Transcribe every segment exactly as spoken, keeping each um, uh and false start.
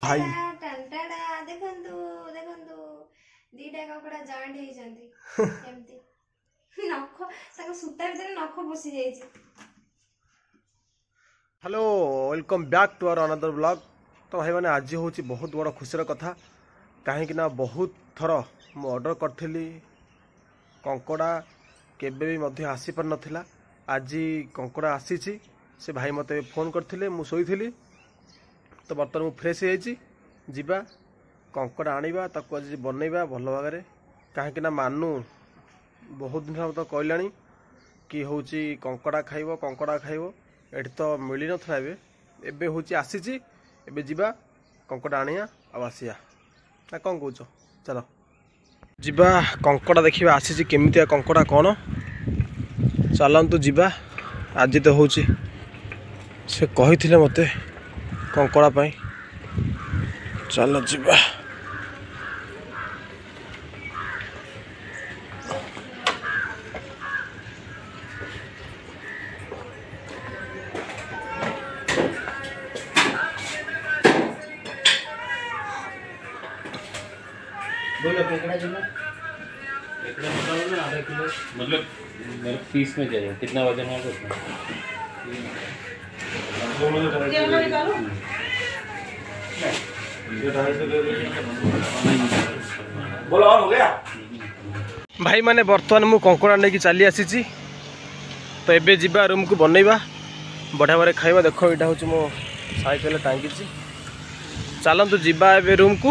ଭାଇ ଟଣ୍ଟାଡା ଦେଖନ୍ତୁ ଦେଖନ୍ତୁ ଦିଟା କଙ୍କଡା ଜଏଣ୍ଟ ହେଇଛନ୍ତି ଏମିତି ନଖ ତାଙ୍କ ସୂତା ଭିତରେ ନଖ ପଶି ଯାଇଛି Hello welcome back to our another vlog ତ ଭାଇମାନେ ଆଜି ହେଉଛି ବହୁତ ବଡ଼ ଖୁସିର କଥା କାହିଁକି ନା ବହୁତ ଥର ମୁଁ ଅର୍ଡ଼ର କରିଥିଲି କଙ୍କଡ଼ା କେବେ ବି ମଧ୍ୟ ଆସିପାରିନଥିଲା ଆଜି କଙ୍କଡ଼ା ଆସିଛି ସେ ଭାଇ ମୋତେ ଫୋନ୍ କରିଥିଲେ ମୁଁ ଶୋଇଥିଲି ତ ବର୍ତ୍ତମାନ ମୁଁ ଫ୍ରେଶ୍ ହେଇଯାଇଛି ଯିବା କଙ୍କଡ଼ା ଆଣିବା ତାକୁ ଆଜି ବନେଇବା ଭଲ ଭାବରେ କାହିଁକି ନା ମାନୁ ବହୁତ ଦିନ ହେବ ତ କହିଲାଣି କି ହେଉଛି କଙ୍କଡ଼ା ଖାଇବ କଙ୍କଡ଼ା ଖାଇବ ଏଠି ତ ମିଳିନଥିଲା ଏବେ ଏବେ ହେଉଛି ଆସିଛି ଏବେ ଯିବା କଙ୍କଡ଼ା ଆଣିବା ଆଉ ଆସିବା ନା କ'ଣ କହୁଛ ଚାଲ ଯିବା କଙ୍କଡ଼ା ଦେଖିବା ଆସିଛି କେମିତିଆ କଙ୍କଡ଼ା କ'ଣ ଚାଲନ୍ତୁ ଯିବା ଆଜି ତ ହେଉଛି ସେ କହିଥିଲେ ମୋତେ କଙ୍କଡ଼ା ପାଇଁ ଚାଲ ଯିବା बोलो केकड़ा किलो केकड़ा निकालो ना आधा किलो मतलब मेरे पीस में चाहिए कितना वजन है उतना दोनों निकालो ये ढाई सौ दे बोलो और हो गया ଭାଇମାନେ ବର୍ତ୍ତମାନ ମୁଁ କଙ୍କଡ଼ା ନେଇକି ଚାଲି ଆସିଛି ତ ଏବେ ଯିବା ରୁମ୍କୁ ବନେଇବା ବଢ଼ିଆ ଭାବରେ ଖାଇବା ଦେଖ ଏଇଟା ହେଉଛି ମୋ ସାଇକେଲ ଟାଙ୍ଗିଛି ଚାଲନ୍ତୁ ଯିବା ଏବେ ରୁମ୍କୁ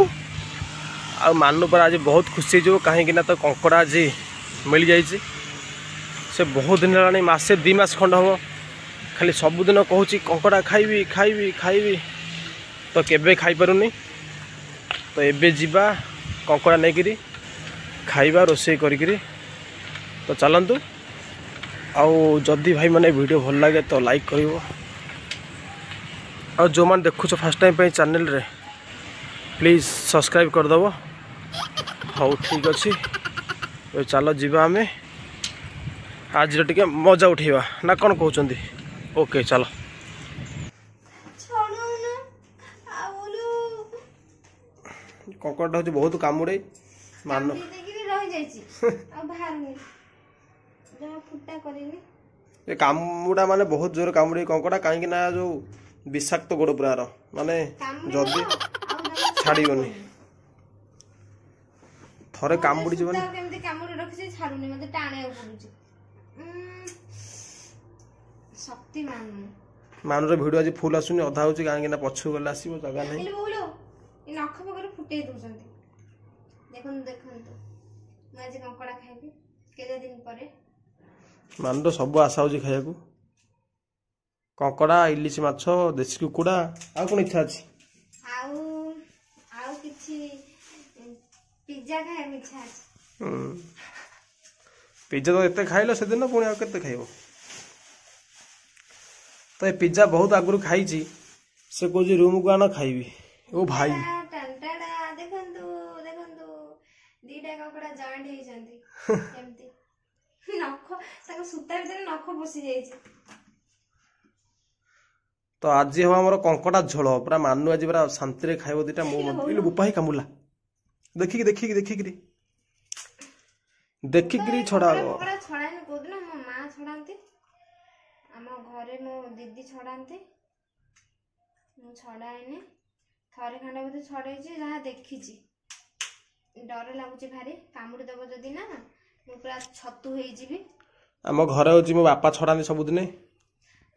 ଆଉ ମାନୁ ପରା ଆଜି ବହୁତ ଖୁସି ହେଇଯିବ କାହିଁକି ନା ତ କଙ୍କଡ଼ା ଆଜି ମିଳିଯାଇଛି ସେ ବହୁତ ଦିନ ହେଲାଣି ମାସେ ଦୁଇ ମାସ ଖଣ୍ଡ ହେବ ଖାଲି ସବୁଦିନ କହୁଛି କଙ୍କଡ଼ା ଖାଇବି ଖାଇବି ଖାଇବି ତ କେବେ ଖାଇପାରୁନି ତ ଏବେ ଯିବା କଙ୍କଡ଼ା ନେଇକିରି ଖାଇବା ରୋଷେଇ କରିକିରି ତ ଚାଲନ୍ତୁ ଆଉ ଯଦି ଭାଇମାନେ ଭିଡ଼ିଓ ଭଲ ଲାଗେ ତ ଲାଇକ୍ କରିବ ଆଉ ଯେଉଁମାନେ ଦେଖୁଛ ଫାର୍ଷ୍ଟ ଟାଇମ୍ ପାଇଁ ଚ୍ୟାନେଲରେ ପ୍ଲିଜ୍ ସବସ୍କ୍ରାଇବ୍ କରିଦେବ ହଉ ଠିକ୍ ଅଛି ଏବେ ଚାଲ ଯିବା ଆମେ ଆଜିର ଟିକେ ମଜା ଉଠେଇବା ନା କ'ଣ କହୁଛନ୍ତି ଓକେ ଚାଲ ଛଡଉନ ଆଉ କଙ୍କଡ଼ାଟା ହେଉଛି ବହୁତ କାମୁଡ଼େ ମାନ କାମୁଡି ଦେଇକିରି ରହିଯାଇଛି ଆଉ ବାହାରୁନି ଯାହା ଫୁଟା କରିନି ଏ କାମୁଡ଼ା ମାନେ ବହୁତ ଜୋରେ କାମୁଡ଼େ କଙ୍କଡ଼ା କାହିଁକି ନା ଯୋଉ ବିଷାକ୍ତ ଗୋଡ଼ ପୁରା ଆର ମାନେ କାମୁଡିବ ଯଦି ଆଉ ଜମା ଛାଡ଼ିବନି ଥରେ କାମୁଡ଼ି ଯିବନି ସୂତା କେମିତି କାମୁଡି ରଖିଛି ଛାଡୁନି ମତେ ଟାଣିବାକୁ ପଡୁଛି ଉଁ, ଶକ୍ତି ମାନୁ ମାନୁର ଭିଡ଼ିଓ ଆଜି ଫୁଲ୍ ଆସୁନି ଅଧା ହେଉଛି କାହିଁକି ନା ପଛକୁ ଗଲେ ଆସିବ ଜାଗା ନାହିଁ ହେଲେ ବୋଉଲୋ ଏ ନଖ ପାଖରେ ଫୁଟେଇ ଦଉଛନ୍ତି ଦେଖନ୍ତୁ ଦେଖନ୍ତୁ ମୁଁ ଆଜି କଙ୍କଡ଼ା ଖାଇବି କେତେ ଦିନ ପରେ ମାନୁର ସବୁ ଆଶା ହେଉଛି ଖାଇବାକୁ କଙ୍କଡ଼ା ଇଲିଶି ମାଛ ଦେଶୀ କୁକୁଡ଼ା ଆଉ କ'ଣ ଇଚ୍ଛା ଅଛି ଆଉ ଆଉ କିଛି ପିଜା ଖାଇବାକୁ ଇଚ୍ଛା ଅଛି ହୁଁ। ପିଜା ତ ଏତେ ଖାଇଲ ସେଦିନ ପୁଣି ଆଉ କେତେ ଖାଇବ ତ ଏ ପିଜା ବହୁତ ଆଗରୁ ଖାଇଛି ସେ କହୁଛି ରୁମକୁ ଆଣ ଖାଇବି ଓ ଭାଇ ଟଣ୍ଟାଡା ଦେଖନ୍ତୁ ଦେଖନ୍ତୁ ଦିଟା କଙ୍କଡ଼ା ଜଏଣ୍ଟ ହେଇଛନ୍ତି ଏମିତି ନଖ ତାଙ୍କ ସୂତା ଭିତରେ ନଖ ପଶି ଯାଇଛି ତ ଆଜି ହବ ଆମର କଙ୍କଡ଼ା ଝୋଳ ପୁରା ମାନୁ ଆଜି ପୁରା ଶାନ୍ତିରେ ଖାଇବ ଦିଟା ମୁଁ ମଧ୍ୟ ଇଲୋ ବୋପା ହେଇ କାମୁଡ଼ିଲା ଦେଖିକି ଦେଖିକି ଦେଖିକିରି ଦେଖିକିରି ଛଡ଼ା ହବ କଙ୍କଡ଼ା ଛଡ଼ାଏନି କୋଉଦିନ ମୋ ମା ଛଡ଼ାନ୍ତି ଆମ ଘରେ ମୋ ଦିଦି ଛଡ଼ାନ୍ତି ମୁଁ ଛଡ଼ାଏନି ଥରେ ଖଣ୍ଡେ ବୋଧେ ଛଡ଼େଇଛି ଯାହା ଦେଖିଛି ଡର ଲାଗୁଛି ଭାରି କାମୁଡ଼ି ଦବ ଯଦି ନା ମୁଁ ପୁରା ଛତୁ ହେଇଯିବି ଆମ ଘରେ ହଉଛି ମୋ ବାପା ଛଡ଼ାନ୍ତି ସବୁଦିନେ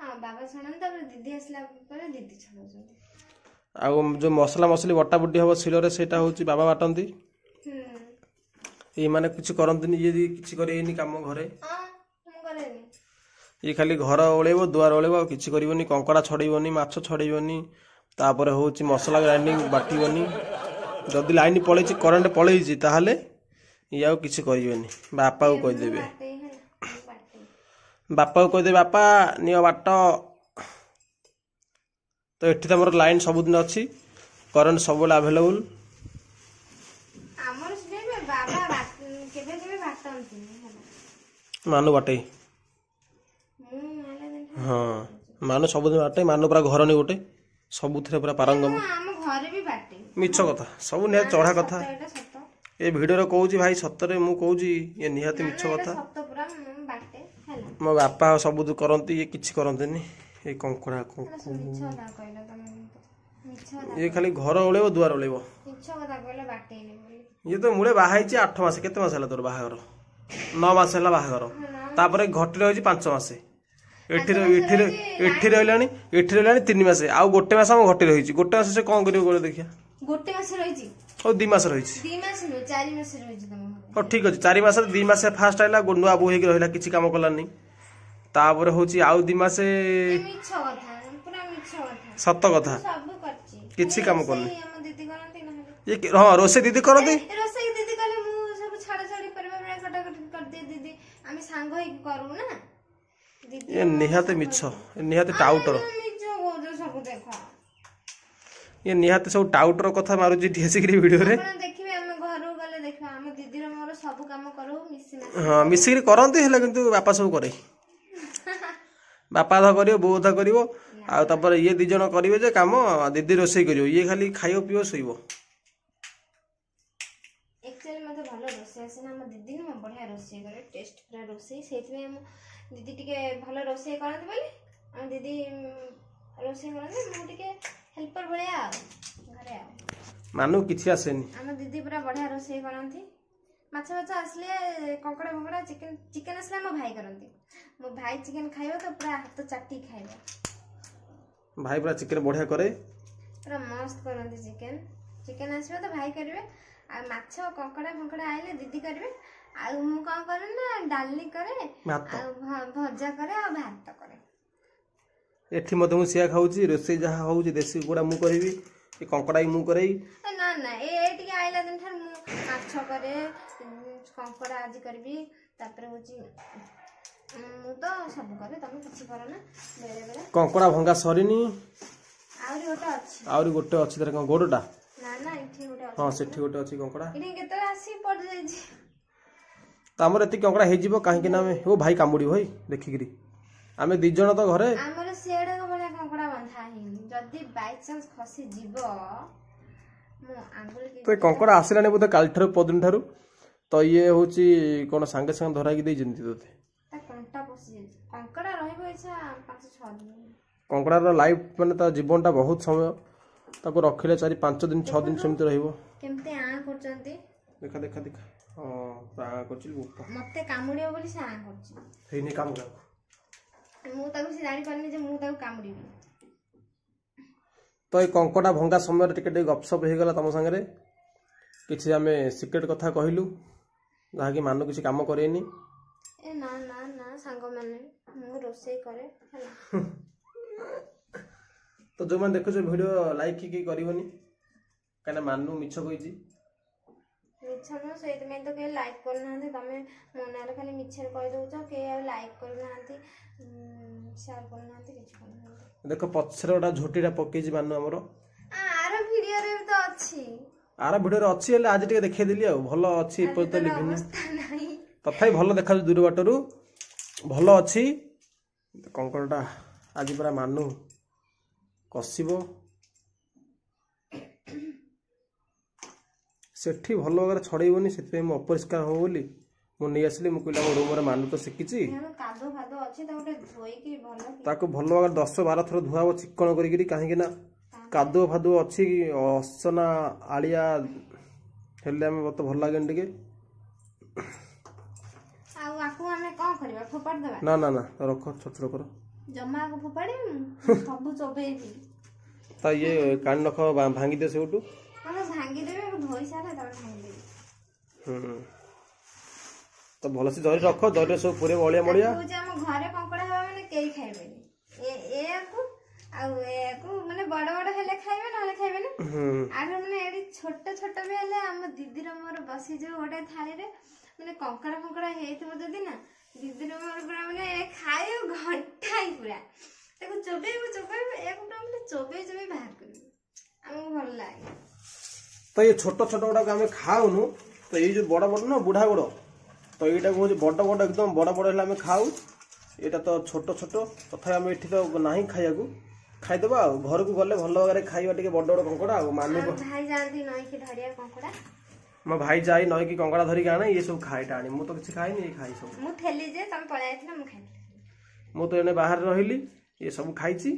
ହଁ ବାବା ଛଡ଼ାନ୍ତି ତାପରେ ଦିଦି ଆସିଲା ପରେ ଦିଦି ଛଡ଼ଉଛନ୍ତି ଆଉ ଯୋଉ ମସଲା ମସଲି ବଟା ବୁଟି ହବ ଶିଳରେ ସେଇଟା ହଉଛି ବାବା ବାଟନ୍ତି ହୁଁ ଏଇମାନେ କିଛି କରନ୍ତିନି ଇଏ କିଛି କରିବେନି କାମ ଘରେ ହଁ ମୁଁ କରେନି ଇଏ ଖାଲି ଘର ଓଳେଇବ ଦୁଆର ଓଳେଇବ ଆଉ କିଛି କରିବନି କଙ୍କଡ଼ା ଛଡ଼େଇବନି ମାଛ ଛଡ଼େଇବନି ତାପରେ ହଉଛି ମସଲା ଗ୍ରାଇଣ୍ଡିଙ୍ଗ ବାଟିବନି ଯଦି ଲାଇନ ପଳେଇଛି କରେଣ୍ଟ ପଳେଇଛି ତାହେଲେ ଇଏ ଆଉ କିଛି କରିବେନି ବାପାକୁ କହିଦେବେ ବାଟେଇ ହେଲା ମୁଁ ବାଟେଇ ବାପାକୁ କହିଦେବେ ବାପା ନିଅ ବାଟ ତ ଏଠି ତ ଆମର ଲାଇନ ସବୁଦିନ ଅଛି କରେଣ୍ଟ ସବୁବେଳେ ଆଭେଲେବୁଲ ଆମର ସେଠି ବି ବାବା ବା- କେବେ କେବେ ବାଟନ୍ତିନି ହେଲା ମାନୁ ବାଟେଇ ମୁଁ ଆଇଲା ଦିନ ହଁ ମାନୁ ସବୁଦିନ ବାଟେ ମାନୁ ପୁରା ଘରଣୀ ଗୋଟେ ସବୁଥିରେ ପୁରା ପାରଙ୍ଗମ। ମୁଁ ଆମ ଘରେ ବି ବାଟେ। ମିଛ କଥା ସବୁ, ନିହାତି ଚଢ଼ା କଥା। ସତ, ଏଇଟା ସତ। ଏ ଭିଡ଼ିଓରେ କହୁଛି ଭାଇ, ସତରେ ମୁଁ କହୁଛି, ଇଏ ନିହାତି ନା, ମିଛ ନା, ଏଇଟା କଥା। ସତ ପୁରା, ମୁଁ ବାଟେ ହେଲା। ମୋ ବାପା ସବୁ କରନ୍ତି, ଇଏ କିଛି କରନ୍ତିନି। ଏ କଙ୍କଡ଼ା ଏଇଟା ସବୁ ମିଛ କଥା କହିଲ ତମେ, କିନ୍ତୁ ମିଛ କଥା। ଇଏ ଖାଲି ଘର ଓଳେଇବ, ଦୁଆର ଓଳେଇବ। ମିଛ କଥା କହିଲ ବାଟେଇନି ବୋଲି। ଇଏ ତ ମୂଳେ ବାହା ହେଇଛି ଆଠ ମାସ, କେତେ ମାସ ହେଲା ତୋର ବାହାଘର? ନଅ ମାସ ହେଲା ବାହାଘର। ତାପରେ ଘଟି ରହିଛି ପାଞ୍ଚ ମାସ। ଏଠି ପାଞ୍ଚ ମାସ ଏଠି ରହିଛି। ଏଠି ରହିଲାଣି, ଏଠି ରହିଲାଣି ତିନି ମାସ, ଆଉ ଗୋଟେ ମାସ ଆମ ଘଟି ରହିଛି। ଗୋଟେ ମାସ ସେ କଣ କରିବ କହିଲ ଦେଖିଆ? ଗୋଟେ ମାସ ରହିଛି? ହଉ, ଦି ମାସ ରହିଛି। ଦି ମାସ ନୁହେଁ, ଚାରି ମାସ ରହିଛି ତମ ଘରେ। ହଉ ଠିକ ଅଛି, ଚାରି ମାସରେ ଦି ମାସ ଫାଷ୍ଟ ଆଇଲା, ନୂଆ ବୋହୂ ହେଇକି ରହିଲା, କିଛି କାମ କଲାନି। ତାପରେ ହଉଛି ଆଉ ଦି ମାସ। ଏ ମିଛ କଥା, ପୁରା ମିଛ କଥା। ସତ କଥା। ମୁଁ ସବୁ କରିଛି। କିଛି ଖାଲି କାମ ରୋଷେଇ କରୁନି। ଆମ ଦିଦି କରନ୍ତି ନହେଲେ। ଇଏ କି- ହଁ, ରୋଷେଇ ଦିଦି କରନ୍ତି। ଏ, ରୋଷେଇ ଦିଦି କଲେ, ମୁଁ ସବୁ ଛଡା ଛଡି ପରିବା ପରିବା କଟାକଟି କରିଦିଏ। ଦିଦି ଆମେ ସାଙ୍ଗ ହେଇକି କରୁ ନା ଦିଦି। ଇଏ ନିହାତି ମିଛ, ଏ ନିହାତି ଟାଉଟର। ମିଛ କହୁଛ ସବୁ, ଦେଖ। ଇଏ ନିହାତି ସବୁ ଟାଉଟର କଥା ମାରୁଛି ଏଠି ଆସିକିରି ଭିଡ଼ିଓରେ। ଆପଣ ଦେଖିବେ, ଆମେ ଘରକୁ ଗଲେ ଦେଖିବା, ଆମ ଦିଦିର ମୋର ସବୁ କାମ କରୁ ମିଶି ମାସି। ହଁ, ମିଶିକିରି କରନ୍ତି, ହେଲେ କିନ୍ତୁ ବାପା ସବୁ କରେ। ବାପା ଅଧା କରିବ, ବୋଉ ଅଧା କରିବ, ଆଉ ତାପରେ ଇଏ ଦି ଜଣ କରିବେ ଯେ କାମ। ଦିଦି ରୋଷେଇ କରିବ, ଇଏ ଖାଲି ଖାଇବ, ପିଇବ, ଶୋଇବ। ଆକ୍ଚୁଆଲି ମୋତେ ଭଲ ରୋଷେଇ ଆସେ ନା। ଆମ ଦିଦି ନୁହଁ, ବଢ଼ିଆ ରୋଷେଇ କରେ, ଟେଷ୍ଟ ପୁରା ରୋଷେଇ। ସେଇଥିପାଇଁ ଆମ ଦିଦି ଟିକେ ଭଲ ରୋଷେଇ କରନ୍ତି ବୋଲି ଆମ ଦିଦି ଉଁ, ରୋଷେଇ କରନ୍ତି, ମୁଁ ଟିକେ ହେଲ୍ପର ଭଳିଆ ଆଉ ଘରେ ଆଉ। ମାନୁ କିଛି ଆସେନି। ଆମ ଦିଦି ପୁରା ବଢ଼ିଆ ରୋଷେଇ କରନ୍ତି। ମାଛ ଫାଛ ଆସିଲେ, କଙ୍କଡ଼ା ଫଙ୍କଡ଼ା, ଚିକେନ ଚିକେନ ଆସିଲେ ଆମ ଭାଇ କରନ୍ତି। ମୋ ଭାଇ ଚିକେନ ଖାଇବ ତ ପୁରା ହାତ ଚାଟିକି ଖାଇବ। ଭାଇ ପୁରା ଚିକେନ ବଢିଆ କରେ। ପୁରା ମସ୍ତ କରନ୍ତି ଚିକେନ। ଚିକେନ ଆସିବ ତ ଭାଇ କରିବେ, ଆଉ ମାଛ କଙ୍କଡ଼ା ଫଙ୍କଡ଼ା ଆଇଲେ ଦିଦି କରିବେ। ଆଉ ମୁଁ କଣ କରେ ନା ଡାଲି କରେ ଭାତ ଆଉ ଭ- ଭଜା କରେ ଆଉ ଭାତ କରେ। ଏଠି ମଧ୍ୟ ମୁଁ ସିଆ ଖାଉଛି। ରୋଷେଇ ଯାହା ହଉଛି, ଦେଶୀ କୁକୁଡ଼ା ମୁଁ କରିବି, ଏ କଙ୍କଡ଼ା ବି ମୁଁ କରେଇ। ଏ ନା ନା, ଏ ଟିକେ ଆଇଲା ଦିନ ଠାରୁ ମୁଁ ମାଛ କରେ, ଉଁ, କଙ୍କଡ଼ା ଆଜି କରିବି। ତାପରେ ହଉଛି ଉଁ, ମୁଁ ତ ସବୁ କରେ, ତମେ କିଛି କର ନା ବେଳେ ବେଳେ। କଙ୍କଡ଼ା ଭଙ୍ଗା ସରିନି। ଆହୁରି ଗୋଟେ ଅଛି। ଆହୁରି ଗୋଟେ ଅଛି ତାର କଣ ଗୋଡଟା? ନା ନା, ଏଠି ଗୋଟେ ଅଛି। ହଁ, ସେଠି ଗୋଟେ ଅଛି କଙ୍କଡ଼ା। ଏଠି କେତେବେଳେ ଆସିକି ପଡିଯାଇଛି। ତ ଆମର ଏତିକି କଙ୍କଡ଼ା ହେଇଯିବ, କାହିଁକି ନା ଆମେ, ଓ ଭାଇ, କାମୁଡ଼ିବ ଭାଇ ଦେଖିକିରି। ଆମେ ଦି ଜଣ ତ ଘରେ। ଆମର ସିଆଡ଼କ ଭଳିଆ କଙ୍କଡ଼ା ବନ୍ଧା ହେଇନି। ଯଦି ବାଇଚାନ୍ସ ଖସିଯିବ ମୋ ଆଙ୍ଗୁଳି ତ ଏ କଙ୍କଡ଼ା ଆସିଲାଣି ବୋଧେ କାଲିଠାରୁ, ପରଦିନ ଠାରୁ। ତ ଇଏ ହଉଛି କଣ ସାଙ୍ଗେ ସାଙ୍ଗେ ଧରାଇକି ଦେଇଛନ୍ତି ତୋତେ? ତା କଣ୍ଟା ପଶିଯାଇଛି। କଙ୍କଡ଼ା ରହିବ ଇଚ୍ଛା ପାଞ୍ଚ ଛଅ ଦିନ। କଙ୍କଡ଼ାର ଲାଇଫ୍ ମାନେ ତା ଜୀବନଟା ବହୁତ ସମୟ। ତାକୁ ରଖିଲେ ଚାରି ପାଞ୍ଚ ଦିନ, ଛଅ ଦିନ ସେମିତି ରହିବ। କେମିତି ଆଁ କରୁଛନ୍ତି। ଦେଖା ଦେଖା ଦେଖା, ହଁ, ପୁରା ଆଁ କରୁଛି ବୋପା। ମତେ କାମୁଡ଼ିବ ବୋଲି ସେ ଆଁ କରୁଛି। ହେଇନି କାମ କାହାକୁ। ମୁଁ ତାକୁ, ସେ ଜାଣିପାରୁନି ଯେ ମୁଁ ତାକୁ କାମୁଡ଼ିବି। ତ ଏଇ କଙ୍କଡ଼ା ଭଙ୍ଗା ସମୟରେ ଟିକେ ଟିକେ ଗପସପ ହେଇଗଲା ତମ ସାଙ୍ଗରେ। କିଛି ଆମେ ସିକ୍ରେଟ କଥା କହିଲୁ, ଯାହାକି ମାନୁ କିଛି କାମ କରେନି। ଏ ନା ନା ନା, ସାଙ୍ଗମାନେ, ମୁଁ ରୋଷେଇ କରେ ହେଲା। ତ ଯୋଉମାନେ ଦେଖୁଛ ଭିଡ଼ିଓ, ଲାଇକ୍ କି କରିବନି, କାହିଁକିନା ମାନୁ ମିଛ କହିଛି। ମିଛ ନୁହଁ, ସେଇଥିପାଇଁ ତ କେହି ଲାଇକ୍ କରୁନାହାନ୍ତି। ତମେ ମୋ ନାଁରେ ଖାଲି ମିଛରେ କହିଦଉଛ। କେହି ଆଉ ଲାଇକ୍ କରୁନାହାନ୍ତି, ସେୟାର କରୁନାହାନ୍ତି, କିଛି କରୁନାହାନ୍ତି। ଦେଖ, ପଛରେ ଗୋଟେ ଝୋଟିଟା ପକେଇଛି ମାନୁ ଆମର। ଆ, ଆର ଭିଡ଼ିଓରେ ବି ତ ଅଛି। ଆର ଭିଡ଼ିଓରେ ଅଛି, ହେଲେ ଆଜି ଟିକେ ଦେଖେଇଦେଲି। ଆଉ ଭଲ ଅଛି ଏପର୍ଯ୍ୟନ୍ତ ତାର ଲିଭିନି। ଅବସ୍ଥା ନାହିଁ। ତଥାପି ଭଲ ଦେଖାଯାଉଛି, ଦୂର ବାଟରୁ ଭଲ ଅଛି। କଙ୍କଡ଼ାଟା ଆଜି ପୁରା ମାନୁ କଷିବ। ସେଠି ଭଲ ଭାବରେ ଛଡ଼େଇବନି, ସେଥିପାଇଁ ମୁଁ ଅପରିଷ୍କାର ହବ ବୋଲି ମୁଁ ନେଇ ଆସିଲି। ମୁଁ କହିଲି ଆମ ରୁମରେ ମାନୁ ତ ଶିଖିଛି। କାରଣ କାଦୁଅ ଫାଦୁଅ ଅଛି, ତାକୁ ଟିକେ ଧୋଇକି ଭଲ କି ତାକୁ ଭଲ ଭାବରେ ଦଶ ବାର ଥର ଧୁଆ ହବ ଚିକଣ କରିକିରି, କାହିଁକି ନା କାଦୁଅ ଫାଦୁଅ ଅଛି, ଅସନା ଆଳିଆ ହେଲେ ଆମେ ମତେ ଭଲ ଲାଗେନି ଟିକେ। ଆଉ ଆକୁ ଆମେ କଣ କରିବା, ଫୋପାଡ଼ି ଦେବା? ନା ନା ନା, ରଖ, ଛୋଟ ଛୋଟ କର। ଜମା ଆକୁ ଫୋପାଡ଼ିବି, ମୁଁ ସବୁ ଚୋବେଇବି। ତା ଇଏ କାଣି ନଖ ଭାଙ୍ଗିଦିଅ ସେଇଠୁ। ଆମେ ଭାଙ୍ଗିଦେବି, ଆକୁ ଧୋଇ ସାରେ ତାପରେ ଭାଙ୍ଗିଦେବି। ହୁଁ, ତ ଭଲସେ ଜରି ରଖ, ଜରିରେ ସବୁ ପୁରେଇବ ଅଳିଆ ମଳିଆ। ତାକୁ ହଉଛି ଆମ ଘରେ କଙ୍କଡ଼ା ହବା ମାନେ କେହି ଖାଇବେନି। ଏ ଏଆକୁ ଆଉ ଏଆକୁ ମାନେ ବଡ ବଡ ହେଲେ ଖାଇବେ, ନହେଲେ ଖାଇବେନି। ହୁଁ ଆର ମାନେ ଏଠି ଛୋଟ ଛୋଟ ବି ହେଲେ ଆମ ଦିଦିର ମୋର ବସିଯିବ ଗୋଟେ ଥାଳିରେ। ମାନେ କଙ୍କଡ଼ା ଫଙ୍କଡ଼ା ହେଇଥିବ ଯଦି ନା, ଦିଦିର ମୋର ପୁରା ମାନେ ଖାଇବୁ ଘଣ୍ଟାଏ ପୁରା। ତାକୁ ଚୋବେଇବୁ ଚୋବେଇବୁ, ଏଆକୁ ପୁରା ମାନେ ଚୋବେଇ ଚୋବେଇ ବାହାର କରିବୁ। ଆମକୁ ଭଲ ଲାଗେ। ତ ଏଇ ଛୋଟ ଛୋଟ ଗୁଡାକ ଆମେ ଖାଉନୁ। ତ ଏଇ ଯୋଉ ବଡ ବଡ ନା ବୁଢା ଗୋଡ, ତ ଏଇଟାକୁ ହଉଛି ବଡ ବଡ, ଏକଦମ ବଡ ବଡ ହେଲେ ଆମେ ଖାଉ। ଏଇଟା ତ ଛୋଟ ଛୋଟ, ତଥାପି ଆମେ ଏଠି ତ ନାହିଁ ଖାଇବାକୁ। ଖାଇଦେବା ଆଉ ଘରକୁ ଗଲେ ଭଲ ଭାବରେ ଖାଇବା ଟିକେ ବଡ଼ ବଡ଼ କଙ୍କଡ଼ା ଆଉ ମାନୁ ଆଉ ଭାଇ ଯାଆନ୍ତି ନଈକି ଧରିବା କଙ୍କଡ଼ା ମୋ ଭାଇ ଯାଇ ନଈକି କଙ୍କଡ଼ା ଧରିକି ଆଣେ ଇଏ ସବୁ ଖାଏ ଟାଣି ମୁଁ ତ କିଛି ଖାଇନି ଇଏ ଖାଇ ସବୁ ମୁଁ ଥେଲି ଯେ ତମେ ପଳେଇ ଯାଇଥିଲ ମୁଁ ଖାଇଥିଲି ମୁଁ ତ ଏଣେ ବାହାରେ ରହିଲି ଇଏ ସବୁ ଖାଇଛି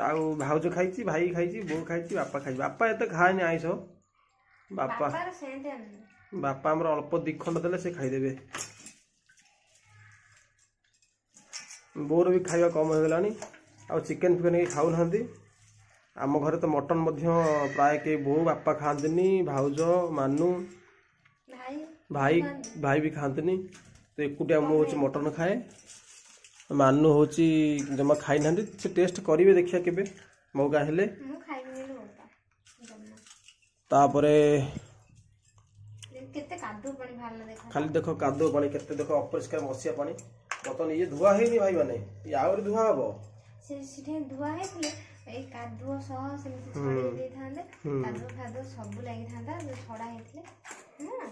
ଆଉ ଭାଉଜ ଖାଇଛି ଭାଇ ଖାଇଛି ବୋଉ ଖାଇଛି ବାପା ଖାଇଛି ବାପା ଏତେ ଖାଏନି ଆଇଁଷ ବାପା ବାପାର ସେମିତି ଆଣିନି ବାପା ଆମର ଅଳ୍ପ ଦି ଖଣ୍ଡ ଦେଲେ ସେ ଖାଇଦେବେ ବୋଉର ବି ଖାଇବା କମ୍ ହେଇଗଲାଣି ଆଉ ଚିକେନ୍ ଫିକେନ୍ କେହି ଖାଉନାହାନ୍ତି ଆମ ଘରେ ତ ମଟନ୍ ମଧ୍ୟ ପ୍ରାୟ କେହି ବୋଉ ବାପା ଖାଆନ୍ତିନି ଭାଉଜ ମାନୁ ଭାଇ ଭାଇ ଭାଇ ବି ଖାଆନ୍ତିନି ତ ଏକୁଟିଆ ମୁଁ ହେଉଛି ମଟନ୍ ଖାଏ ମାନୁ ହେଉଛି ଜମା ଖାଇନାହାନ୍ତି ସେ ଟେଷ୍ଟ କରିବେ ଦେଖିବା କେବେ ମୌକା ହେଲେ ମୁଁ ଖାଇବିନି ବୋଲି ବୋପା ଜମା ତାପରେ କେତେ କାଦୁଅ ପାଣି ବାହାରିଲା ଦେଖ ଖାଲି ଦେଖ କାଦୁଅ ପାଣି କେତେ ଦେଖ ଅପରିଷ୍କାର ମସିଆ ପାଣି ବର୍ତ୍ତମାନ ଇଏ ଧୁଆ ହେଇନି ଭାଇ ମାନେ ଇଏ ଆହୁରି ଧୁଆ ହବ ସେ ସେଠି ଧୁଆ ହେଇଥିଲେ ଏଇ କାଦୁଅ ସହ ସେମିତି ଛଡେଇ ଦେଇଥାନ୍ତେ କାଦୁଅ ଫାଦୁଅ ସବୁ ଲାଗିଥାନ୍ତା ଯୋଉ ଛଡା ହେଇଥିଲେ ନା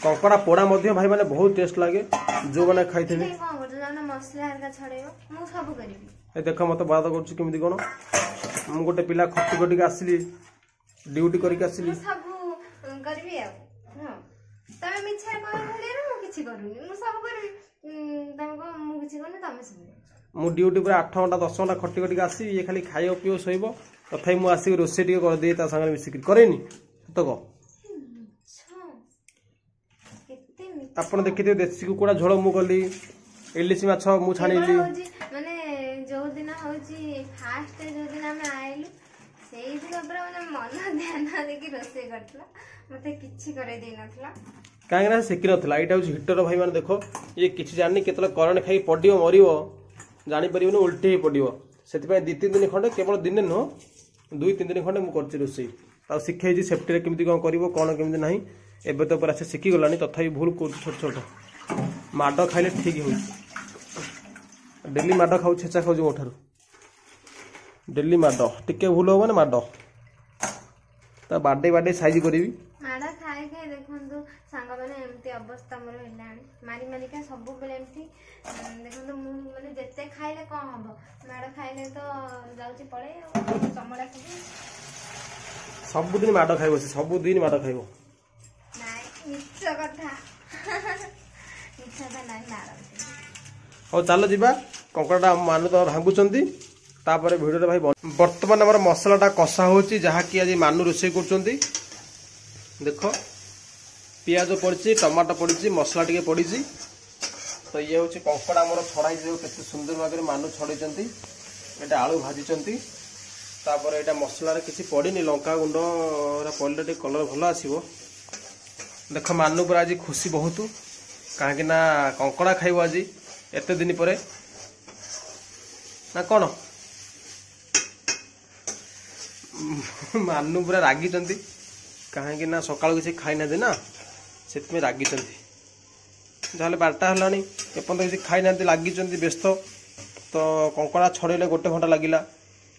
କଙ୍କଡ଼ା ପୋଡ଼ା ମଧ୍ୟ ଭାଇ ମାନେ ବହୁତ ଟେଷ୍ଟ ଲାଗେ ଯୋଉମାନେ ଖାଇଥିବେ କାଇଁ କଣ କରୁଛ ଯାଉନ ମସଲା ହେରିକା ଛଡେଇବ ମୁଁ ସବୁ କରିବି ଏ ଦେଖ ମତେ ବାଦ କରୁଛି କେମିତି କଣ ମୁଁ ଗୋଟେ ପିଲା ଖଟି ଖଟିକି ଆସିଲି ଡ୍ୟୁଟି କରିକି ଆସିଲି ମୁଁ ସବୁ କରିବି ଆଉ ହଁ ତମେ ମିଛରେ କହିବ ଭଳିଆରେ ମୁଁ କିଛି କରୁନି ମୁଁ ସବୁ କରିବି ଉଁ, ତମେ କହ ମୁଁ କିଛି କରୁନି ତମେ ସବୁ କରୁଛ ମୁଁ ଡ୍ୟୁଟି ପୁରା ଆଠ ଘଣ୍ଟା ଦଶ ଘଣ୍ଟା ଖଟି ଖଟିକି ଆସିବି ଇଏ ଖାଲି ଖାଇବ ପିଇବ ଶୋଇବ ତଥାପି ମୁଁ ଆସିକି ରୋଷେଇ ଟିକେ କରିଦିଏ ତା ସାଙ୍ଗରେ ମିଶିକି କରେନି ସତ କହ ମିଛ କେତେ ମିଛ ଆପଣ ଦେଖିଥିବେ ଦେଶୀ କୁକୁଡ଼ା ଝୋଳ ମୁଁ କଲି ଇଲିଶି ମାଛ ମୁଁ କେବଳ ଛାଣିଲି ହଉଛି ମାନେ ଯୋଉ ଦିନ ହଉଛି ଫାଷ୍ଟ ଯୋଉ ଦିନ ଆମେ ଆଇଲୁ ସେଇଦିନ ପୁରା ମାନେ ମନ ଧ୍ୟାନ ଦେଇକି ରୋଷେଇ କରିଥିଲା ମତେ କିଛି କରେଇ ଦେଇନଥିଲା କାହିଁକି ନା ସେ ଶିଖିନଥିଲା ଏଇଟା ହେଉଛି ହିଟର ଭାଇମାନେ ଦେଖ ଇଏ କିଛି ଜାଣିନି କେତେବେଳେ କରେଣ୍ଟ ଖାଇକି ପଡ଼ିବ ମରିବ ଜାଣିପାରିବନି ଓଲଟି ହେଇ ପଡ଼ିବ ସେଥିପାଇଁ ଦୁଇ ତିନି ଦିନ ଖଣ୍ଡେ କେବଳ ଦିନେ ନୁହଁ ଦୁଇ ତିନି ଦିନ ଖଣ୍ଡେ ମୁଁ କରିଛି ରୋଷେଇ ତାକୁ ଶିଖେଇଛି ସେଫ୍ଟିରେ କେମିତି କ'ଣ କରିବ କ'ଣ କେମିତି ନାହିଁ ଏବେ ତ ପୁରା ସେ ଶିଖିଗଲାଣି ତଥାପି ଭୁଲ କରୁଛି ଛୋଟ ଛୋଟ ମାଡ଼ ଖାଇଲେ ଠିକ୍ ହେଉଛି ଡେଲି ମାଡ଼ ଖାଉଛି ଛେଚା ଖାଉଛି ମୋ ଠାରୁ ଡେଲି ମାଡ଼ ଟିକେ ଭୁଲ ହବ ମାନେ ମାଡ଼ ତା ବାଡ଼େଇ ବାଡ଼େଇ ସାଇଜ କରିବି ମାଡ଼ ଖାଇ ଖାଇ ଦେଖନ୍ତୁ ସାଙ୍ଗମାନେ ଏମିତି ଅବସ୍ଥା ମୋର ହେଲାଣି ମାରି ମାରିକା ସବୁବେଳେ ଏମିତି ଉଁ, ଦେଖନ୍ତୁ ମୁଁ ମାନେ ଯେତେ ଖାଇଲେ କଣ ହବ ମାଡ଼ ଖାଇଲେ ତ ଯାଉଛି ପଳେଇ ଆଉ ଚମଡ଼ା ସବୁ ସବୁଦିନ ମାଡ଼ ଖାଇବ ସେ ସବୁଦିନ ମାଡ଼ ଖାଇବ ନାଇଁ ମିଛ କଥା ମିଛ କଥା ନାଇଁ ମାରନ୍ତି ହଉ ଚାଲ ଯିବା କଙ୍କଡ଼ାଟା ମାନୁ ତ ଭାଙ୍ଗୁଛନ୍ତି ତାପରେ ଭିଡ଼ିଓରେ ଭାଇ ବନ- ବର୍ତ୍ତମାନ ଆମର ମସଲାଟା କଷା ହେଉଛି ଯାହାକି ଆଜି ମାନୁ ରୋଷେଇ କରୁଛନ୍ତି ଦେଖ ପିଆଜ ପଡ଼ିଛି ଟମାଟୋ ପଡ଼ିଛି ମସଲା ଟିକେ ପଡ଼ିଛି ତ ଇଏ ହେଉଛି କଙ୍କଡ଼ା ଆମର ଛଡ଼ା ହେଇଛି ଦେଖ କେତେ ସୁନ୍ଦର ଭାବରେ ମାନୁ ଛଡ଼େଇଛନ୍ତି ଏଇଟା ଆଳୁ ଭାଜିଛନ୍ତି ତାପରେ ଏଇଟା ମସଲାରେ କିଛି ପଡ଼ିନି ଲଙ୍କା ଗୁଣ୍ଡ ଏରା ପଡ଼ିଲେ ଟିକେ କଲର୍ ଭଲ ଆସିବ ଦେଖ ମାନୁ ପୁରା ଆଜି ଖୁସି ବହୁତ କାହିଁକି ନା କଙ୍କଡ଼ା ଖାଇବ ଆଜି ଏତେ ଦିନ ପରେ ନା କ'ଣ ମାନୁ ପୁରା ରାଗିଛନ୍ତି କାହିଁକି ନା ସକାଳୁ କିଛି ଖାଇନାହାନ୍ତି ନା ସେଥିପାଇଁ ରାଗିଛନ୍ତି ଯାହାହେଲେ ବାରଟା ହେଲାଣି ଏପର୍ଯ୍ୟନ୍ତ କିଛି ଖାଇନାହାନ୍ତି ଲାଗିଛନ୍ତି ବ୍ୟସ୍ତ ତ କଙ୍କଡ଼ା ଛଡ଼େଇଲେ ଗୋଟେ ଘଣ୍ଟା ଲାଗିଲା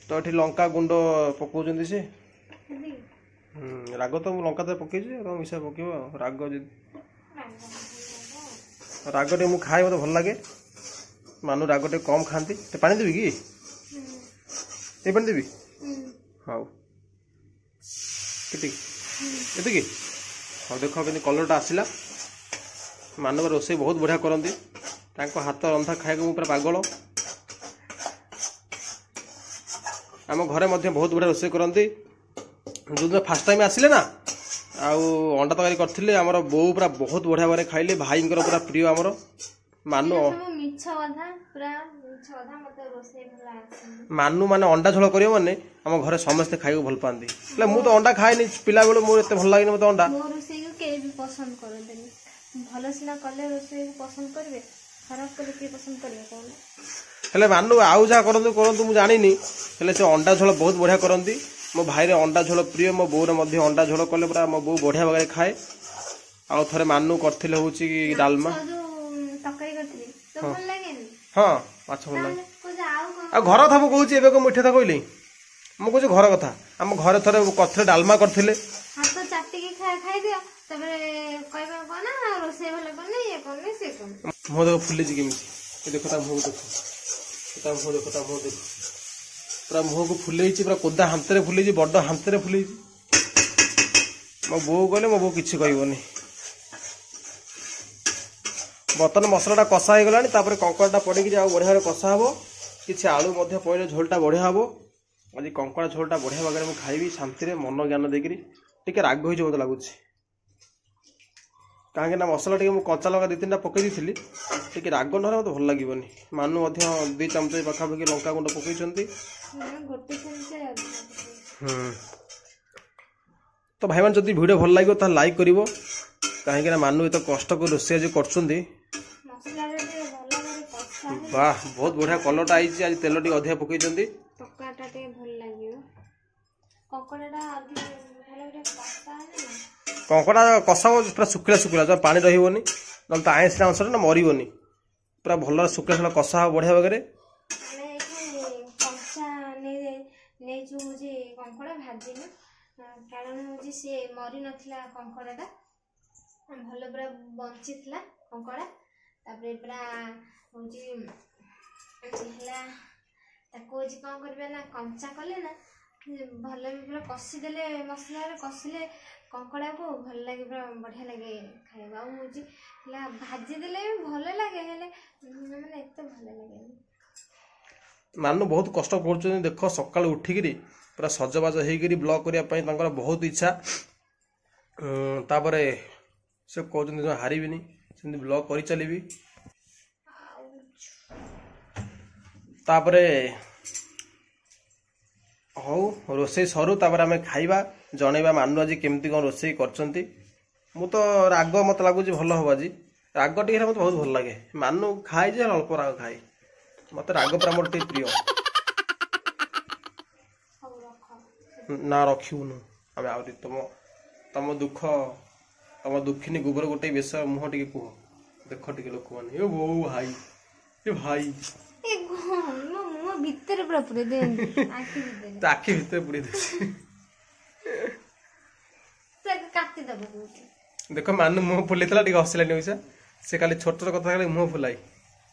ତ ଏଠି ଲଙ୍କା ଗୁଣ୍ଡ ପକାଉଛନ୍ତି ସେ ଏତିକି? ହୁଁ, ରାଗ ତ ମୁଁ ଲଙ୍କା ତ ପକେଇଛି ଆଉ ମିଶା ପକେଇବ ଆଉ ରାଗ ଯଦି ରାଗ ଟିକେ ମୁଁ ଖାଏ ମୋତେ ଭଲ ଲାଗେ ମାନୁ ରାଗ ଟିକେ କମ୍ ଖାଆନ୍ତି ଟିକେ ପାଣି ଦେବି କି ଏ ପାଣି ଦେବି ହୁଁ। ହଉ କେତିକି ଏତିକି ହଉ ଦେଖ କେମିତି କଲର୍ଟା ଆସିଲା ମାନବ ରୋଷେଇ ବହୁତ ବଢ଼ିଆ କରନ୍ତି ତାଙ୍କ ହାତ ରନ୍ଧା ଖାଇବାକୁ ମୁଁ ପୁରା ପାଗଳ ଆମ ଘରେ ମଧ୍ୟ ବହୁତ ବଢ଼ିଆ ରୋଷେଇ କରନ୍ତି ଯେଉଁଦିନ ଫାର୍ଷ୍ଟ ଟାଇମ୍ ଆସିଲେ ନା ଆଉ ଅଣ୍ଡା ତରକାରୀ କରିଥିଲେ ଆମର ବୋଉ ପୁରା ବହୁତ ବଢ଼ିଆ ଭାବରେ ଖାଇଲେ ଭାଇଙ୍କର ପୁରା ପ୍ରିୟ ଆମର ମାନୁ ଏଇଟା ସବୁ ମିଛ କଥା ପୁରା ମିଛ କଥା ମତେ ରୋଷେଇ ଭଲ ଆସେନି ମାନୁ ମାନେ ଅଣ୍ଡା ଝୋଳ କରିବ ମାନେ ଆମ ଘରେ ସମସ୍ତେ ଖାଇବାକୁ ଭଲ ପାଆନ୍ତି ହେଲେ ମୁଁ ତ ଅଣ୍ଡା ଖାଏନି ପିଲାବେଳୁ ମୋର ଏତେ ଭଲ ଲାଗେନି ମୋତେ ଅଣ୍ଡା ମୋ ରୋଷେଇକୁ କେହି ବି ପସନ୍ଦ କରନ୍ତିନି ଭଲ ସିନା କଲେ ରୋଷେଇକୁ ପସନ୍ଦ କରିବେ ଖରାପ କଲେ କିଏ ପସନ୍ଦ କରିବେ କହୁନ ହେଲେ ମାନୁ ଆଉ ଯାହା କରନ୍ତୁ କରନ୍ତୁ ମୁଁ ଜାଣିନି ହେଲେ ସେ ଅଣ୍ଡା ଝୋଳ ବହୁତ ବଢ଼ିଆ କରନ୍ତି ମୋ ଭାଇର ଅଣ୍ଡା ଝୋଳ ପ୍ରିୟ ମୋ ବୋଉର ମଧ୍ୟ ଅଣ୍ଡା ଝୋଳ କଲେ ପୁରା ମୋ ବୋଉ ବଢ଼ିଆ ଭାବରେ ଖାଏ ଆଉ ଥରେ ମାନୁ କରିଥିଲେ ହେଉଛି ଡାଲମା ମାଛ ଯୋଉ ତରକାରୀ କରିଥିଲି ତ ଭଲ ଲାଗେନି ହଁ ମାଛ ଭଲ ଲାଗେ ତାହେଲେ କହୁଛ ଆଉ କଣ ଆଉ ଘର କଥା ମୁଁ କହୁଛି ଏବେ କଣ ମିଠା କଥା କହିଲି ମୁଁ କହୁଛି ଘର କଥା ଆମ ଘରେ ଥରେ କରିଥିଲେ ଡାଲମା କରିଥିଲେ ହାତ ଚାଟିକି ତାପରେ କହିବା କଣ ନା ରୋଷେଇ ଭଲ କରୁନି, ଇଏ କରୁନି, ସିଏ କରୁନି। ମୁହଁ ଦେଖ ଫୁଲିଛି କେମିତି। ଏ ଦେଖ ତା ମୁହଁକୁ ଦେଖ, ତା ମୁହଁ ଦେଖ, ତା ମୁହଁ ଦେଖ, ପୁରା ମୁହଁକୁ ଫୁଲେଇଛି, ପୁରା କୋଦା ହାନ୍ତରେ ଫୁଲେଇଛି, ବଡ ହାନ୍ତରେ ଫୁଲେଇଛି। ମୋ ବୋଉ ଗଲେ ମୋ ବୋଉ କିଛି କହିବନି। ବର୍ତ୍ତମାନ ମସଲାଟା କଷା ହେଇଗଲାଣି, ତାପରେ କଙ୍କଡ଼ାଟା ପଡ଼ିକିରି ଆଉ ବଢ଼ିଆ ଭାବରେ କଷା ହେବ। କିଛି ଆଳୁ ମଧ୍ୟ ପଡ଼ିଲେ ଝୋଳଟା ବଢ଼ିଆ ହେବ। ଆଜି କଙ୍କଡ଼ା ଝୋଳଟା ବଢ଼ିଆ ଭାବରେ ମୁଁ ଖାଇବି ଶାନ୍ତିରେ, ମନ ଜ୍ଞାନ ଦେଇକିରି। ଟିକେ ରାଗ ହେଇଯିବ ମୋତେ ଲାଗୁଛି, କାହିଁକି ନା ମସଲା ଟିକେ ମୁଁ କଞ୍ଚା ଲଙ୍କା ଦୁଇ ତିନିଟା ପକେଇ ଦେଇଥିଲି। ଟିକେ ରାଗ ନହେଲେ ମୋତେ ଭଲ ଲାଗିବନି। ମାନୁ ମଧ୍ୟ ଦୁଇ ଚାମଚ ପାଖାପାଖି ଲଙ୍କା ଗୁଣ୍ଡ ପକେଇଛନ୍ତି। ନା, ଗୋଟେ ଚାମଚ ଅଧିକା ପକେଇଛି। ହୁଁ ତ ଭାଇମାନେ, ଯଦି ଭିଡ଼ିଓ ଭଲ ଲାଗିବ ତାହେଲେ ଲାଇକ୍ କରିବ, କାହିଁକି ନା ମାନୁ ଏତେ କଷ୍ଟ କରି ରୋଷେଇ ଆଜି କରୁଛନ୍ତି। ମସଲାଟା ଟିକେ ଭଲ କରି କଷା ହେଲେ ବାহ, ବହୁତ ବଢ଼ିଆ କଲରଟା ଆଇଛି ଆଜି। ତେଲ ଟିକେ ଅଧିକା ପକେଇଛନ୍ତି। ତରକାରୀଟା ଟିକେ ଭଲ ଲାଗିବ। କଙ୍କଡ଼ାଟା ଅଧିକ ଭଲ କରି କଷା ହେଲେ ନା କଙ୍କଡ଼ା କଷା ହବ ପୁରା ଶୁଖିଲା ଶୁଖିଲା, ଜମା ପାଣି ରହିବନି, ନହେଲେ ତ ଆଇଁଷିଆ ଅଂଶଟା ନା ମରିବନି। ପୁରା ଭଲରେ ଶୁଖିଲା ଶୁଖିଲା କଷା ହବ ବଢ଼ିଆ ଭାବରେ। ଆମେ ଏଇଠି କଞ୍ଚା ନେଇ ନେଇଛୁ ହେଉଛି କଙ୍କଡ଼ା, ଭାଜିନୁ, କାରଣ ହେଉଛି ସିଏ ମରି ନଥିଲା କଙ୍କଡ଼ାଟା, ଭଲ ପୁରା ବଞ୍ଚିଥିଲା କଙ୍କଡ଼ା। ତାପରେ ପୁରା ହେଉଛି ହେଲା, ତାକୁ ହେଉଛି କ'ଣ କରିବା ନା, କଞ୍ଚା କଲେ ନା ଭଲ ବି, ପୁରା କଷିଦେଲେ, ମସଲାରେ କଷିଲେ କଙ୍କଡ଼ାକୁ ଭଲ ଲାଗେ, ପୁରା ବଢ଼ିଆ ଲାଗେ ଖାଇବାକୁ। ଆଉ ହେଉଛି ହେଲା ଭାଜିଦେଲେ ବି ଭଲ ଲାଗେ, ହେଲେ ମାନେ ଏତେ ଭଲ ଲାଗେନି। ମାନୁ ବହୁତ କଷ୍ଟ କରୁଛନ୍ତି ଦେଖ, ସକାଳୁ ଉଠିକିରି ପୁରା ସଜବାଜ ହେଇକିରି ବ୍ଲଗ୍ କରିବା ପାଇଁ ତାଙ୍କର ବହୁତ ଇଚ୍ଛା। ଉଁ, ତାପରେ ସେ କହୁଛନ୍ତି ଜମା ହାରିବିନି, ସେମିତି ବ୍ଲଗ୍ କରିଚାଲିବି। ଆଉ ତାପରେ ହଉ, ରୋଷେଇ ସରୁ, ତାପରେ ଆମେ ଖାଇବା, ଜଣେଇବା ମାନୁ ଆଜି କେମିତି କ'ଣ ରୋଷେଇ କରିଛନ୍ତି। ମୁଁ ତ ରାଗ ମୋତେ ଲାଗୁଛି ଭଲ ହବ ଆଜି। ରାଗ ଟିକେ ହେଲେ ମୋତେ ବହୁତ ଭଲ ଲାଗେ। ମାନୁ ଖାଏ ଯେ ହେଲେ ଅଳ୍ପ ରାଗ ଖାଏ। ମୋତେ ରାଗ ପୁରା ମୋର ଟିକେ ପ୍ରିୟ। ହଉ, ରଖ। ନା, ରଖିବୁନୁ ଆମେ ଆହୁରି। ତମ ତମ ଦୁଃଖ, ତମ ଦୁଃଖିନୀ ଗୋବର ଗୋଟେ ବେଶ ମୁହଁ ଟିକେ କୁହ, ଦେଖ ଟିକେ ଲୋକମାନେ। ଏ ବୋଉ ଭାଇ, ଏ ଭାଇ। ଏ କଣ ମୋ ମୁହଁ ଭିତରେ ପୁରା ପୁରେଇ ଦିଅନ୍ତି, ଆଖି ଭିତରେ। ତା ଆଖି ଭିତରେ ପୁରେଇ ଦଉଛି। ପୁରା କାଟିଦବ କହୁଛି। ଦେଖ, ମାନୁ ମୁହଁ ଫୁଲେଇଥିଲା, ଟିକେ ହସିଲାନି ପଇସା। ସେ ଖାଲି ଛୋଟ ଛୋଟ କଥା ଖାଲି ମୁହଁ ଫୁଲାଇ।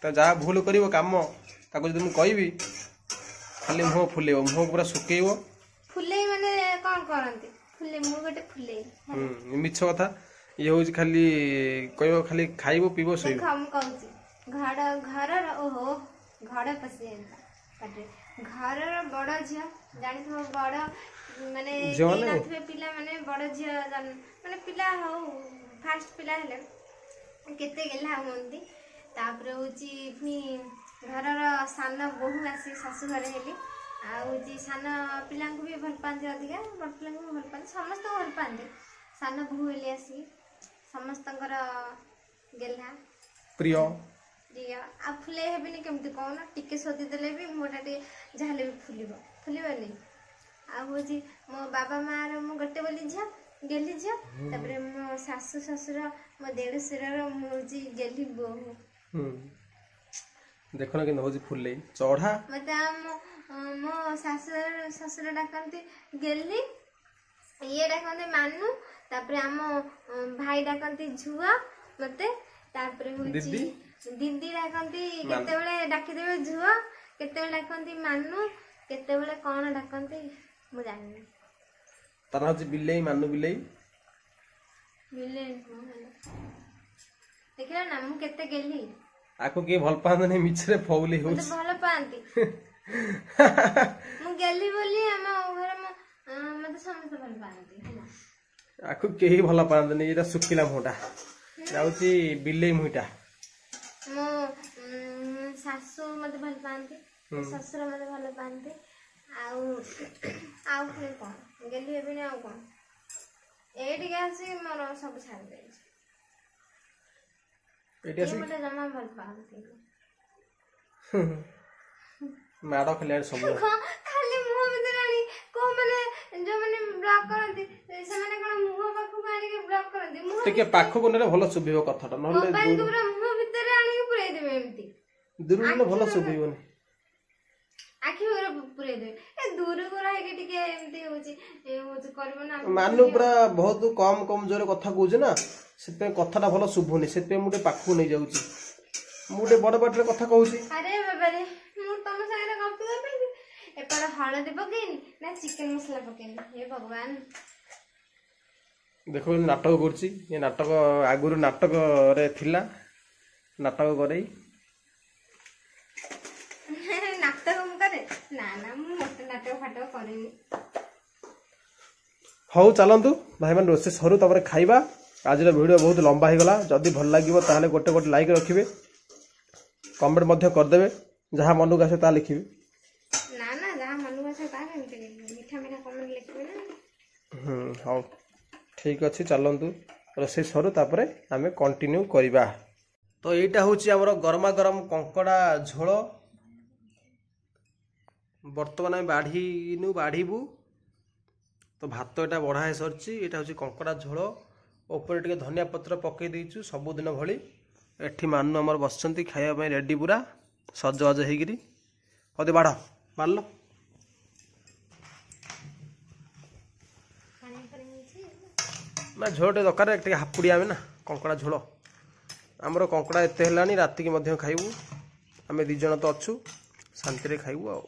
ତ ଯାହା ଭୁଲ କରିବ କାମ, ତାକୁ ଯଦି ମୁଁ କହିବି, ଖାଲି ମୁହଁ ଫୁଲେଇବ, ମୁହଁକୁ ପୁରା ଶୁକେଇବ। ଫୁଲେଇ ମାନେ କଣ କରନ୍ତି? ଫୁଲେଇ, ମୁଁ ଗୋଟେ ଫୁଲେଇ। ହୁଁ, ମିଛ କଥା। ଇଏ ହଉଛି ଖାଲି କହିବ, ଖାଲି ଖାଇବ, ପିଇବ, ଶୋଇବ। ଦେଖ, ମୁଁ କହୁଛି, ଘର ଘରର, ଓହୋ, ଘର ପଶିଯାଇଥିଲା ପାଟିରେ। ଘରର ବଡ ଝିଅ ଜାଣିଥିବ, ବଡ ମାନେ ଝିଅ କେହି ମାନେ? ନଥିବେ ପିଲାମାନେ, ବଡ ଝିଅ ଜନ୍ମ- ମାନେ ପିଲା ହଉ, ଫାଷ୍ଟ ପିଲା ହେଲେ କେତେ ଗେହ୍ଲା ହୁଅନ୍ତି। ତାପରେ ହଉଛି ପୁଣି ଘରର ସାନ ବୋହୂ ଆସି ଶାଶୁ ଘରେ ହେଲି, ଆଉ ହଉଛି ସାନ ପିଲାଙ୍କୁ ବି ଭଲ ପାଆନ୍ତି ଅଧିକା, ବଡ଼ ପିଲାଙ୍କୁ ବି ଭଲ ପାଆନ୍ତି, ସମସ୍ତଙ୍କୁ ଭଲ ପାଆନ୍ତି। ସାନ ବୋହୂ ହେଲି ଆସିକି ସମସ୍ତଙ୍କର ଗେହ୍ଲା ପ୍ରିୟ। ପ୍ରିୟ। ଆଉ ଫୁଲେଇ ହେବିନି କେମିତି କହୁନ? ଟିକେ ଶୋଧିଦେଲେ ବି ମୁହଁଟା ଟିକେ ଯାହାହେଲେ ବି ଫୁଲିବ, ଫୁଲିବନି? ଆଉ ହଉଛି ମୋ ବାବା ମାଆର ମୁଁ ଗୋଟେ ବୋଲି ଝିଅ, ଗେହ୍ଲି ଝିଅ। ତାପରେ ମୋ ଶାଶୁ ଶ୍ୱଶୁର, ମୋ ଦେଢ଼ଶୁରର ମୁଁ ହଉଛି ଗେହ୍ଲି ବୋହୂ। ହୁଁ ଦେଖ ନା କେମିତି ହଉଛି ଫୁଲେଇ ଚଢା। ମତେ ଆମ ମୋ ଶାଶୁ ଶ୍ୱଶୁର ଡାକନ୍ତି ଗେହ୍ଲି, ଇଏ ଡାକନ୍ତି ମାନୁ, ତାପରେ ଆମ ଭାଇ ଡାକନ୍ତି ଝୁଅ ମତେ, ତାପରେ ହଉଛି ଦିଦି? ଦିଦି ଡାକନ୍ତି। କେତେବେଳେ ଡାକିଦେବେ ଝୁଅ, କେତେବେଳେ ଡାକନ୍ତି ମାନୁ, କେତେବେଳେ କଣ ଡାକନ୍ତି ମୁଁ ଜାଣିନି। ତାର ହଉଛି ବିଲେଇ, ମାନୁ ବିଲେଇ। ବିଲେଇ ନୁହଁ ହେଲେ। ଦେଖିଲ ନା ମୁଁ କେତେ ଗେହ୍ଲି? ଆକୁ କିଏ ଭଲ ପାଆନ୍ତିନି, ମିଛରେ ଫଉଲି ମତେ ହଉଛି। ଭଲ ପାଆନ୍ତି। ମୁଁ ଗେହ୍ଲି ବୋଲି ଆମ ଘରେ ମୋ ଅଁ, ମତେ ସମସ୍ତେ ଭଲ ପାଆନ୍ତି ହେଲା। ଆକୁ କେହି ଭଲ ପାଆନ୍ତିନି। ଏଇଟା ଶୁଖିଲା ମୁହଁଟା ଯାଉଛି, ବିଲେଇ ମୁହିଁଟା। ମୋ ଉଁ, ଶାଶୁ ମତେ ଭଲ ପାଆନ୍ତି, ମୋ ଶ୍ୱଶୁର ମତେ ଭଲ ପାଆନ୍ତି। ଆଉ ଆଉ ପୁଣି କଣ ଗେହ୍ଲି ହେବିନି ଆଉ କଣ? ଏଇଠିକି ଆସି ମୋର ସବୁ ଛାଡ଼ି ଯାଇଛି। ଏଇଠି ଇଏ ଆସି ମତେ ଜମା ଭଲ ପାଆନ୍ତିନି। ମାଡ଼ ଖାଲି ସବୁ। କଣ ଖାଲି ମୁହଁ ଭିତରେ ଆଣି କୋଉ ମାନେ ଯୋଉମାନେ ବ୍ଲଗ କରନ୍ତି, ସେମାନେ କଣ ମୁହଁ ପାଖକୁ ଆଣିକି ବ୍ଲଗ କରନ୍ତି? ମୁହଁ ଟିକେ ପାଖକୁ ନେଲେ ଭଲ ଶୁଭିବ କଥାଟା, ନହେଲେ ମୋବାଇଲକୁ ପୁରା ମୁହଁ ଭିତରେ ଆଣିକି ପୁରେଇ ଦେବେ ଏମିତି। ଦୂରରୁ ନେଲେ ଭଲ ଶୁଭିବନି। ଆଖି ପୁରା ପୁରେଇ ଦେବେ। ଏ ଦୂରକୁ ରହିକି ଟିକେ ଏମିତି ହଉଛି, ଏ ହଉଛି କରିବ ନା। ମାନୁ ପୁରା ବହୁତ କମ କମ ଜୋରେ କଥା କହୁଛି ନା, ସେଥିପାଇଁ କଥାଟା ଭଲ ଶୁଭୁନି, ସେଥିପାଇଁ ମୁଁ ଟିକେ ପାଖକୁ ନେଇଯାଉଛି। ମୁଁ ଟିକେ ବଡ ପାଟିରେ କଥା କହୁଛି। ଆରେ ବାବାରେ, ମୁଁ ତମ ସାଙ୍ଗରେ ଗପି ଗପି ଏପଟେ ହଳଦୀ ପକେଇନି ନା ଚିକେନ ମସଲା ପକେଇନି, ହେ ଭଗବାନ। ଦେଖ କେମିତି ନାଟକ କରୁଛି ଏ। ନାଟକ ଆଗରୁ ନାଟକରେ ଥିଲା, ନାଟକ କରେଇ। ନାଟକ ମୁଁ କରେ? ନା ନା, ମୁଁ ମୋଟେ ନାଟକ ଫାଟକ କରେନି। ହଉ ଚାଲନ୍ତୁ ଭାଇମାନେ, ରୋଷେଇ ସରୁ ତାପରେ ଖାଇବା। ଆଜିର ଭିଡ଼ିଓ ବହୁତ ଲମ୍ବା ହେଇଗଲା। ଯଦି ଭଲ ଲାଗିବ ତାହେଲେ ଗୋଟେ ଗୋଟେ ଲାଇକ୍ ରଖିବେ, କମେଣ୍ଟ ମଧ୍ୟ କରିଦେବେ, ଯାହା ମନକୁ ଆସେ ତାହା ଲେଖିବେ। ନା ନା, ଯାହା ମନକୁ ଆସେ ତାହା କେମିତି ଲେଖିବେ? ମିଠା ମିଠା କମେଣ୍ଟ ଲେଖିବେ ନା। ହୁଁ, ହଉ ଠିକ୍ ଅଛି, ଚାଲନ୍ତୁ ରୋଷେଇ ସରୁ ତାପରେ ଆମେ କଣ୍ଟିନ୍ୟୁ କରିବା। ତ ଏଇଟା ହେଉଛି ଆମର ଗରମା ଗରମ କଙ୍କଡ଼ା ଝୋଳ। ବର୍ତ୍ତମାନ ଆମେ ବାଢ଼ିନୁ, ବାଢ଼ିବୁ। ତ ଭାତ ଏଇଟା ବଢ଼ା ହେଇସାରିଛି। ଏଇଟା ହେଉଛି କଙ୍କଡ଼ା ଝୋଳ, ଉପରେ ଟିକେ ଧନିଆ ପତ୍ର ପକାଇ ଦେଇଛୁ ସବୁଦିନ ଭଳି। ଏଠି ମାନୁ ଆମର ବସିଛନ୍ତି ଖାଇବା ପାଇଁ ରେଡ଼ି, ପୁରା ସଜବାଜ ହେଇକିରି। ହଉ ଦେ, ବାଢ଼, ବାଢ଼ିଲ। ପାଣି ପାଣି ହେଇଛି ନା, ଝୋଳ ଟିକେ ଦରକାର, ଟିକେ ହାପୁଡ଼ି ଆମେ ନା କଙ୍କଡ଼ା ଝୋଳ। ଆମର କଙ୍କଡ଼ା ଏତେ ହେଲାଣି, ରାତିକି ମଧ୍ୟ ଖାଇବୁ। ଆମେ ଦୁଇ ଜଣ ତ ଅଛୁ, ଶାନ୍ତିରେ ଖାଇବୁ। ଆଉ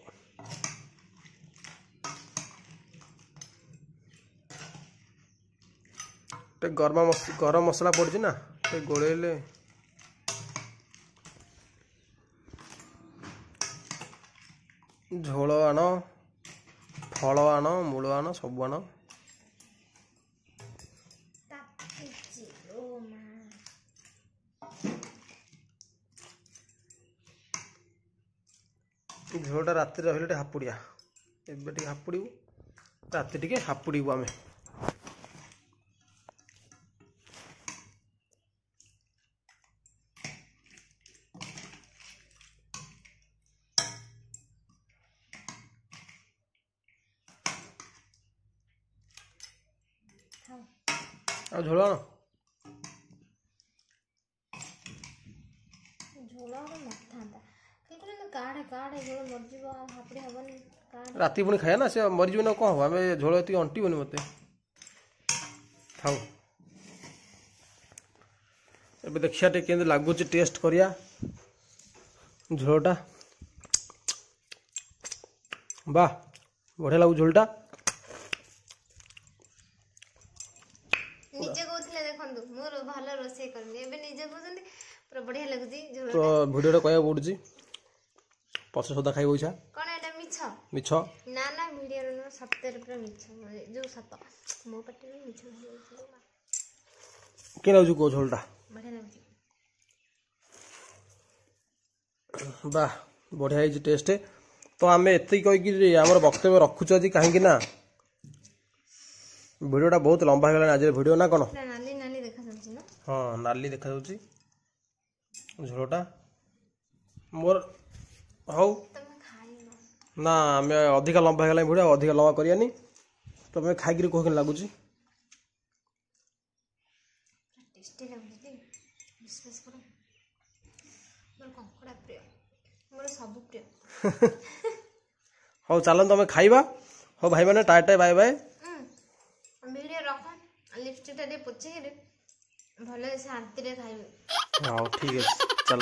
ଟିକେ ଗରମ ଗରମ ମସଲା ପଡ଼ିଛି ନା, ଟିକେ ଗୋଳେଇଲେ। ଝୋଳ ଆଣ, ଫଳ ଆଣ, ମୂଳ ଆଣ, ସବୁ ଆଣ। ତାତିଛି ଓ ମା। ଝୋଳଟା ରାତିରେ ରହିଲେ ଟିକେ ହାପୁଡ଼ିଆ। ଏବେ ଟିକେ ହାପୁଡ଼ିବୁ, ରାତି ଟିକେ ହାପୁଡ଼ିବୁ ଆମେ। ଥାଉ। ଆଉ ଝୋଳ ଆଣ। ଝୋଳ ଆଉ ନଥାନ୍ତା, ଖାଲି କହିଲେ କାଢ଼େ କାଢ଼େ, ଝୋଳ ମରିଯିବ, ଆଉ ହାପୁଡ଼ି ହବନି, କାଢ଼େ। ରାତି ପୁଣି ଖାଇବା ନା, ସେ ମରିଯିବ ନା କ'ଣ ହବ? ଆମେ ଝୋଳ ଏତିକି ଅଣ୍ଟିବନି ମୋତେ। ଥାଉ, ଏବେ ଦେଖିବା ଟିକେ କେମିତି ଲାଗୁଛି, ଟେଷ୍ଟ କରିବା ଝୋଳଟା। ବାহ, ବଢ଼ିଆ ଲାଗୁଛି ଝୋଳଟା। ନିଜେ କହୁଥିଲେ ଦେଖନ୍ତୁ ମୁଁ ଭଲ ରୋଷେଇ କରିନି, ଏବେ ନିଜେ କହୁଛନ୍ତି ପୁରା ବଢିଆ ଲାଗୁଛି ଝୋଳ। ତ ଭିଡ଼ିଓଟା କହିବାକୁ ପଡ଼ୁଛି, ପଛ ସଦା ଖାଇବ ଇଚ୍ଛା। କ'ଣ ଏଇଟା ମିଛ? ମିଛ। ନା ନା, ଭିଡ଼ିଓରେ ନୁହଁ, ସତରେ ପୁରା ମିଛ, ଯୋଉ ସତ ମୋ ପାଟିରୁ ମିଛ ବାହାରି। କେମିତି ଲାଗୁଛି କୁହ ଝୋଳଟା? ବଢିଆ ଲାଗୁଛି। ବାহ, ବଢ଼ିଆ ହେଇଛି ଟେଷ୍ଟ। ତ ଆମେ ଏତିକି କହିକି ଆମର ବକ୍ତବ୍ୟ ରଖୁଛୁ ଆଜି, କାହିଁକି ନା ଭିଡ଼ିଓଟା ବହୁତ ଲମ୍ବା ହେଇଗଲାଣି ଆଜିର ଭିଡ଼ିଓ, ନା କ'ଣ? ପୁରା ନାଲି ନାଲି ଦେଖାଯାଉଛି ନା? ହଁ, ନାଲି ଦେଖାଯାଉଛି ଝୋଳଟା ମୋର। ହଉ। ତମେ ଖାଇନ? ନା, ଆମେ ଅଧିକା ଲମ୍ବା ହେଇଗଲାଣି ଭିଡ଼ିଓ, ଆଉ ଅଧିକା ଲମ୍ବା କରିବାନି। ତମେ ଖାଇକିରି କୁହ କେମିତି ଲାଗୁଛି। ପୁରା ଟେଷ୍ଟି ଲାଗୁଛି ଟି, ବିଶ୍ୱାସ କର। ମୋର କଙ୍କଡ଼ା ପ୍ରିୟ, ମୋର ସବୁ ପ୍ରିୟ। ହଉ ଚାଲନ୍ତୁ ଆମେ ଖାଇବା। ହଉ ଭାଇମାନେ, ଟାଟା, ବାଏ ବାଏ। ଭିଡ଼ିଓ ରଖ, ଲିପଷ୍ଟିକଟା ଟିକେ ପୋଛିକିରି ଭଲ ଶାନ୍ତିରେ ଖାଇବି। ହଉ ଠିକ୍ ଅଛି, ଚାଲ।